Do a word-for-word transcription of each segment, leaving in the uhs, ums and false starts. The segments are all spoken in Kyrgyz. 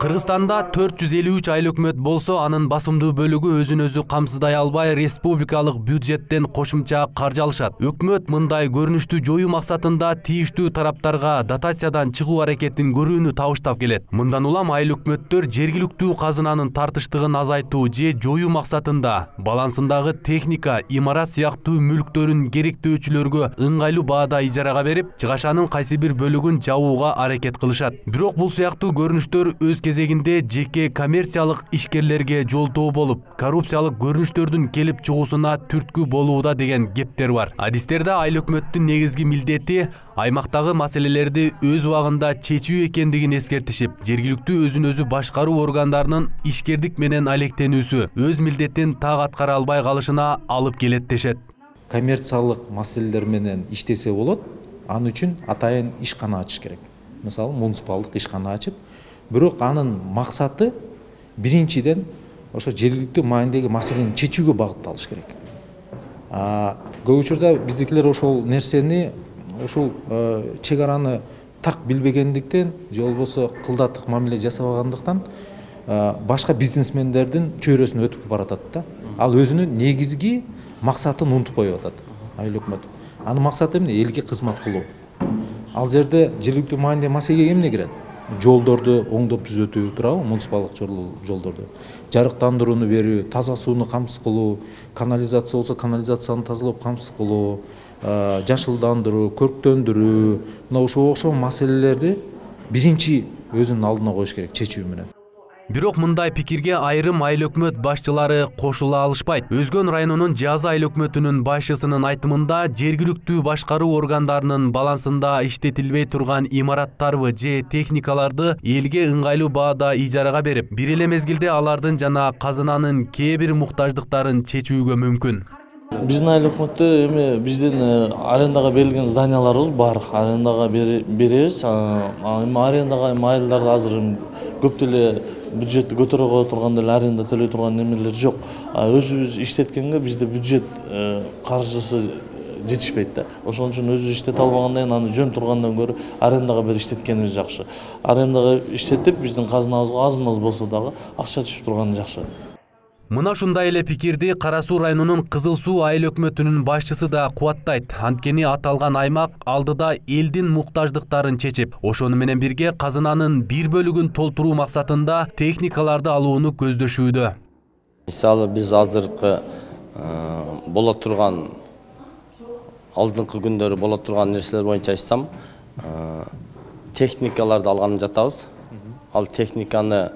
Кыргызстанда төрт жүз элүү үч айыл өкмөт болсо, анын басымдуу бөлүгү өзүн өзү камсыздай албай, республикалык бюджеттен кошумча каржы алышат. Өкмөт мындай көрүнүштү жоюу максатында тийиштүү тараптарга дотациядан чыгуу аракетин көрүүнү табыштап келет. Мындан улам айыл өкмөттөр жергиликтүү казынанын тартыштыгын азайтуу же жоюу максатында балансындагы техника, имарат сыяктуу мүлктөрүн керектөөчүлөргө ыңгайлуу баада ижарага берип, чыгашанын кайсы бир бөлүгүн жабууга аракет кылышат. Бирок бул сыяктуу көрүнүштөр өз кезегинде жеке коммерциялык ишкерлерге жолтоо болуп, коррупциялык көрүнүштөрдүн келип чыгуусуна түрткү болууда деген кептер бар. Адистерде айыл өкмөттүн негизги милдети аймактагы маселелерди өз убагында чечүү экендигин эскертишип, жергиликтүү өзүн өзү башкаруу органдарынын ишкердик менен алектенүүсү өз милдетин так аткара албай калышына алып келет дешет. Коммерциялык маселелер менен иштесе болот, ан үчүн атайын ишкана ачыш керек. Мисалы, муниципалдык ишкана ачып, бирок анын максаты биринчиден ошо жергиликтүү маанидеги маселени чечүүгө багытталыш керек. Көп учурда биздикилер ошол нерсени, ошол чек араны так билбегендиктен, же болбосо кылдаттык мамиле жасабагандыктан башка бизнесмендердин чөйрөсүнө өтүп баратат да. Ал өзүнүн негизги максатын унутуп коюп атат айыл өкмөт. Анын максаты эмне? Элге кызмат кылуу. Ал жерде жергиликтүү маанидеги маселеге эмне кирет? Жолдорду оңдоп түзөтүү, туурабы? Муниципалдык жолдорду, жарыктандырууну берүү, таза сууну камсыз кылуу, канализация болсо канализацияны тазалап камсыз кылуу, жашылдандыруу, көрктөндүрүү, мына ошого окшогон маселелерди биринчи өзүнүн алдына коюш керек чечүү менен. Бирок мындай пикирге айрым айыл өкмөт башчылары кошула алышпайт. Өзгөн районунун Жазы айыл өкмөтүнүн башчысынын айтымында, жергиликтүү башкаруу органдарынын балансында иштетилбей турган имараттарбы же техникаларды элге ыңгайлуу баада ижарага берип, бир эле мезгилде алардын жана казынанын кээ бир муктаждыктарын чечүүгө мүмкүн. Биздин айыл өкмөттө эми биздин арендага берилген зданияларыбыз бар. Арендага беребиз. Эми арендага айылдарда азыр көп деле бюджетти көтөрө турган деле аренда төлөй турган немелер жок. Өзүбүз иштеткенге бизде бюджет каржысы жетишпейт да. Ошон үчүн өзүбүз иштете албагандан кийин аны жөн тургандан көрө арендага берип иштеткенибиз жакшы. Арендага иштетип биздин казынабызга аз-маз болсо дагы акча түшүп турганы жакшы. Мына ушундай эле пикирди Кара Суу районунун Кызыл Суу айыл өкмөтүнүн башчысы да кубаттайт. Анткени аталган аймак алдыда элдин муктаждыктарын чечип, ошону менен бирге казынанын бир бөлүгүн толтуруу максатында техникаларды алууну көздөшүүдө. Мисалы, биз азыркы боло турган алдыңкы күндөрү боло турган нерселер боюнча айтсам, техникаларды алганы жатабыз. Ал техниканы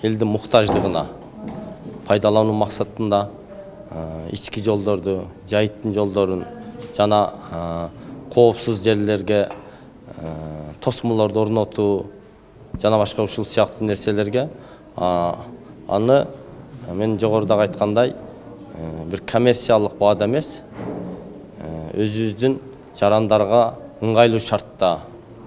элдин муктаждыгына пайдалануу максатында ички жолдорду, жайыттын жолдорун жана коопсуз жерлерге тосмолорду орнотуу жана башка ушул сыяктуу нерселерге аны мен жогоруда айткандай бир коммерциялык баада эмес, өзүбүздүн жарандарга ыңгайлуу шартта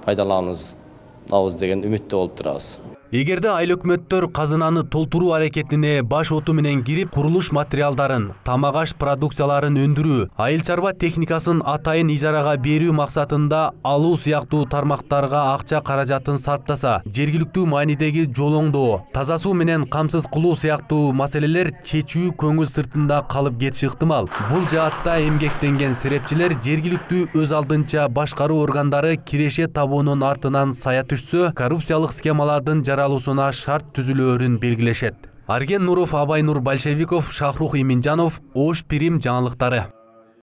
пайдаланабыз деген үмүттө болуп турабыз. Эгерде айыл өкмөттөр казынаны толтуруу аракетине баш оту менен кирип, курулуш материалдарын, тамак-аш продукцияларын өндүрүү, айыл чарба техникасын атайын ижарага берүү максатында алуу сыяктуу тармактарга акча каражатын сарптаса, жергиликтүү маанидеги жол оңдоо, таза суу менен камсыз кылуу сыяктуу маселелер чечүү көңүл сыртында калып кетиши ыктымал. Бул жаатта эмгектенген серепчилер жергиликтүү өз алдынча башкаруу органдары киреше табуунун артынан сая түшсө, коррупциялык схемалардын алуусуна шарт түзүлөөрүн белгилешет. Арген Нуров, Абай Нур Большевиков, Шахрух Иминжанов, Ош Пирим жаңылыктары.